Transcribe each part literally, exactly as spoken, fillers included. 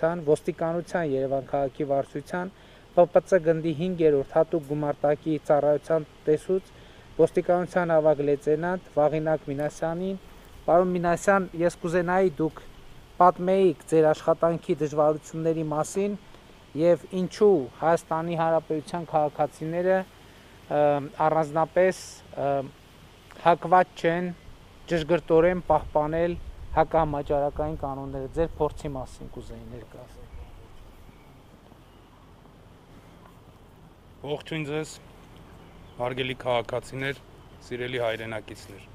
վարչության, ոստիկանության Երևան քաղաքի վարչության, Պ Պ Ց գնդի հինգերորդ հատուկ գումարտակի ծառայության տեսուց, ոստիկանության ավագ լեյտենանտ Վաղինակ Մինասյանին, պարոն Մինասյան, ես կուզենայի դուք պատմեիք ձեր աշխատանքի դժվարությունների մասին եւ ինչու Հայաստանի Հանրապետության քաղաքացիները առանձնապես հակված չեն ճշգրտորեն պահպանել հակահամաճարակային կանոնները, ձեր փորձի մասին կուզեի ներկայացնել։ Ողջույն ձեզ, հարգելի քաղաքացիներ, սիրելի հայրենակիցներ։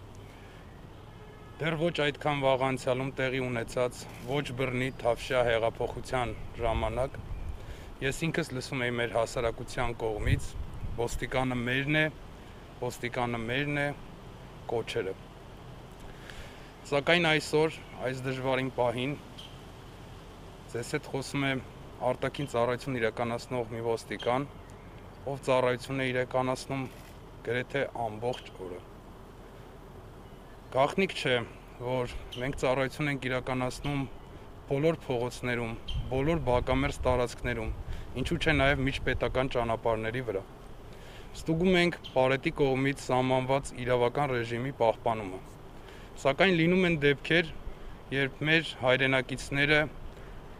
Դեռ ոչ այդքան վաղ անցյալում տեղի ունեցած ոչ բռնի Թավշյա հեղափոխության ժամանակ ես ինքս լսում էի մեր հասարակության կողմից ոստիկանը մերն է, ոստիկանը մերն է կոչերը։ Սակայն այսօր, այս դժվարին պահին, ձեզ հետ խոսում է արտաքին ծառայություն իրականացնող մի ոստիկան, ով ծառայություն է իրականացնում գրեթե ամբողջ օրը։ Գաղտնիք չէ, որ մենք ծառայություն ենք իրականացնում բոլոր փողոցներում, բոլոր բակամերձ տարածքներում, ինչու չէ նաև միջպետական ճանապարհների վրա։ Ստուգում ենք Պարետի կողմից սահմանված իրավական ռեժիմի պահպանումը։ Սակայն լինում են դեպքեր, երբ մեր հայրենակիցները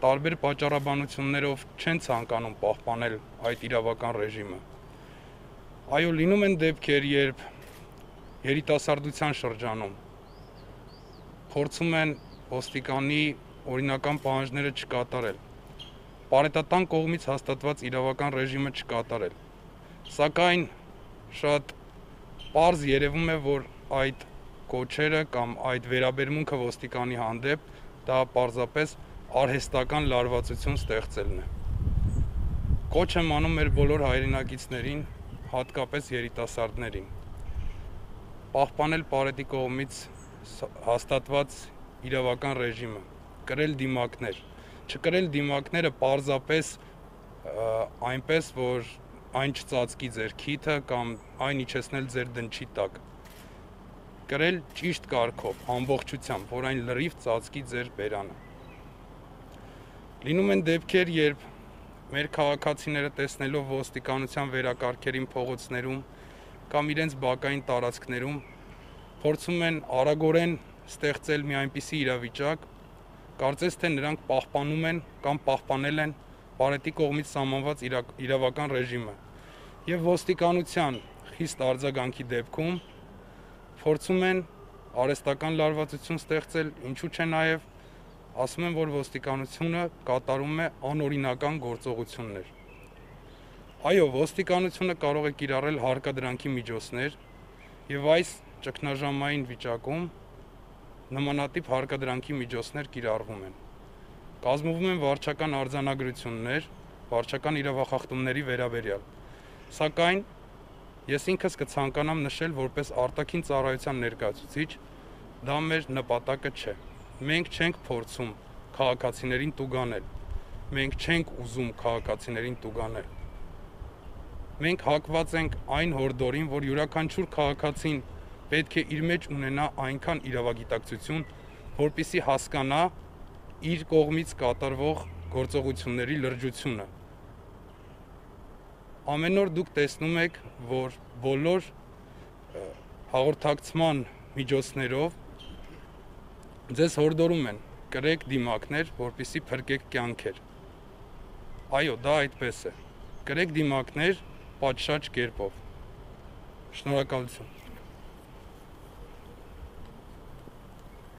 տարբեր պատճառաբանություններով չեն ցանկանում պահպանել այդ իրավական ռեժիմը։ Այո, լինում են դեպքեր, երբ երիտասարդության շրջանում փորձում են ոստիկանի օրինական պահանջները չկատարել, պարետատան կողմից հաստատված իրավական ռեժիմը չկատարել, սակայն շատ պարզ երևում է, որ այդ կոչերը կամ այդ վերաբերմունքը ոստիկանի հանդեպ դա պարզապես արհեստական լարվածություն ստեղծելն է։ Կոչ եմ անում մեր բոլոր հայրենակիցներին, հատկապես երիտասարդներին, պահպանել Պարետի կողմից հաստատված իրավական ռեժիմը, կրել դիմակներ, չկրել դիմակները պարզապես այնպես, որ այն չծածկի ձեր քիթը կամ այն իջեցնել ձեր դնչի տակ, կրել ճիշտ կարգով, ամբողջությամբ, որ այն լրիվ ծածկի ձեր բերանը։ Լինում են դեպքեր, երբ մեր քաղաքացիները տեսնելով ոստիկանության վերակարգերին փողոցներում կամ իրենց բակային տարածքներում փորձում են արագորեն ստեղծել մի այնպիսի իրավիճակ, կարծես թե նրանք պահպանում են կամ պահպանել են Պարետի կողմից սահմանված իրավական ռեժիմը եւ ոստիկանության խիստ արձագանքի դեպքում փորձում են արհեստական լարվածություն ստեղծել, ինչու չէ նաեւ ասում են, որ ոստիկանությունը կատարում է անօրինական գործողություններ։ Այո, ոստիկանությունը կարող է կիրառել հարկադրանքի միջոցներ եւ այս ճգնաժամային վիճակում նմանատիպ հարկադրանքի միջոցներ կիրառվում են։ Կազմվում են վարչական արձանագրություններ, վարչական իրավախախտումների վերաբերյալ։ Սակայն ես ինքս կցանկանամ նշել որպես արտաքին ծառայության ներկայացուցիչ, դա մեր նպատակը չէ։ Մենք չենք փորձում քաղաքացիներին տուգանել։ Մենք չենք ուզում քաղաքացիներին տուգանել։ Մենք հակված ենք այն հորդորին, որ յուրաքանչյուր քաղաքացին պետք է իր մեջ ունենա այնքան իրավագիտակցություն, որպեսզի հասկանա իր կողմից կատարվող գործողությունների լրջությունը։ Ամեն օր դուք տեսնում եք, որ բոլոր հաղորդակցման միջոցներով ձեզ հորդորում են կրեք դիմակներ, որպեսզի փրկեք կյանքեր։ Այո, դա այդպես է։ Կրեք դիմակներ պատշաճ կերպով։ Շնորհակալություն։